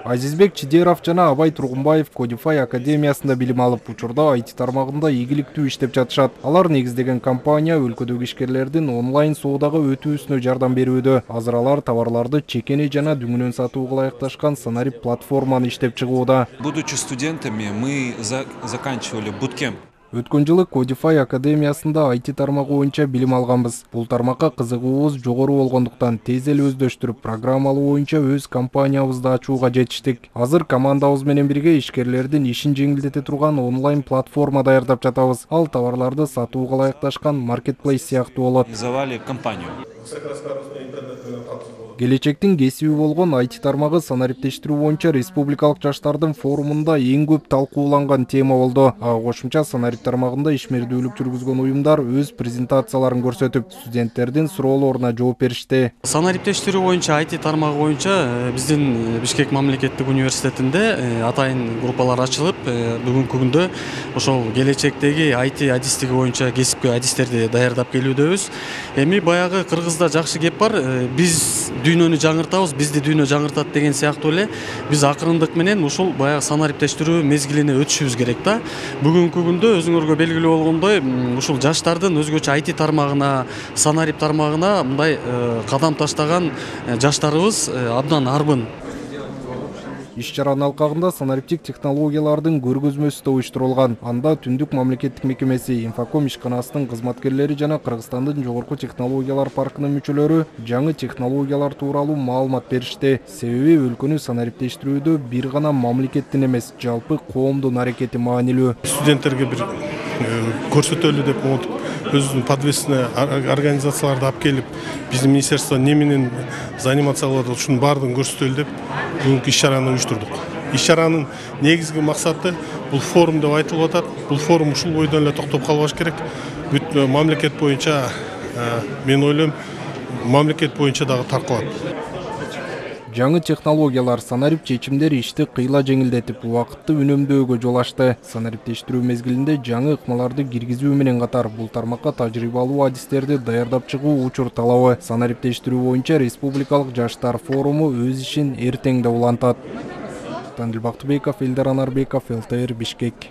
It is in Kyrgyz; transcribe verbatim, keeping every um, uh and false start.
Азизбек Чидеров жана Абай Тургунбаев Codify академиясында билим алып, учурда ай ти тармагында ийгиликтүү иштеп жатышат. Алар негиздеген компания өлкөдөгү ишкерлердин онлайн соодага өтүүсүнө жардам берүүдө. Азыр алар товарларды чекени жана дүңүнөн сатууга ылайыкташкан Санарип платформаны иштеп чыгууда. Будучи студентами, мы заканчивали буткемп. Өткөн жылы Codify академиясында ай ти тармагы боюнча билим алганбыз. Бул тармакка кызыгуубуз жогору болгондуктан тез эле өздөштүрүп, программалоо боюнча өз компаниябызды ачууга жетиштик. Азыр командабыз менен бирге ишкерлердин ишин жеңилдете турган онлайн платформа даярдап жатабыз. Ал товарларды сатууга ылайыкташкан маркетплейс сыяктуу болот. Организовали компанию. Келечектин кесиби болгон ай ти тармагы санариптештирүү боюнча республикалык жаштардын форумунда эң көп талкууланган тема болду. Ага кошумча Санарип тармагында ишмердүүлүк жүргүзгөн уюмдар өз презентацияларын көрсөтүп, студенттердин суроолоруна жооп беришти. Санариптештирүү боюнча ай ти тармагы боюнча биздин Бишкек мамлекеттик университетинде атайын группалар ачылып, бүгүнкү күндө ошол келечектеги ай ти адистиги боюнча кесипкөй адистерди даярдап келүүдөбүз. Эми баягы Кыргызда жакшы кеп бар, биз дүйнөнү жаңыртабыз, бизди дүйнө жаңыртат деген сыяктуу эле биз акырындык менен ушул баягы санариптештирүү мезгилине өтүшүбүз керек да. Бүгүнкү күндө өзүңөргө белгилүү болгондой, ушул жаштардын өзгөчө ай ти тармагына, Санарип тармагына мындай кадам таштаган жаштарыбыз абдан арбын. Иш-чаранын алкагында санариптик технологиялардын көргөзмөсү да уюштурулган. Анда Түндүк мамлекеттик мекемеси, Инфоком ишканасынын кызматкерлери жана Кыргызстандын жогорку технологиялар паркынын мүчөлөрү жаңы технологиялар тууралуу маалымат беришти. Себеби өлкөнү санариптештирүүдө бир гана мамлекеттин эмес, жалпы коомдун аракети маанилүү. Студенттерге бир көрсөтөлү деп отуп, өзүнүн подвесный организацияларды алып келип, биздин министерство не менен заниматься кылат, ушунун баардыгын көрсөтөлү деп бүгүнкү иш-чараны уюштурдук. Иш-чаранын негизги максаты бул форум деп айтылып атат. Бул форум ушул бойдон эле токтоп калбаш керек. Бүт мамлекет боюнча, мен ойлойм, мамлекет боюнча дагы таркалат. Жаңы технологиялар санарип чечимдер ишти кыйла жеңилдетип, убакытты үнөмдөөгө жол ачты. Санариптештирүү мезгилинде жаңы ыкмаларды киргизүү менен катар бул тармакка тажрыйбалуу адистерди даярдап чыгуу учур талабы. Санариптештирүү боюнча республикалык жаштар форуму өз ишин эртең да улантат. Тандил Бактыбеков, Элдар Анарбеков, эл тэ эр, Бишкек.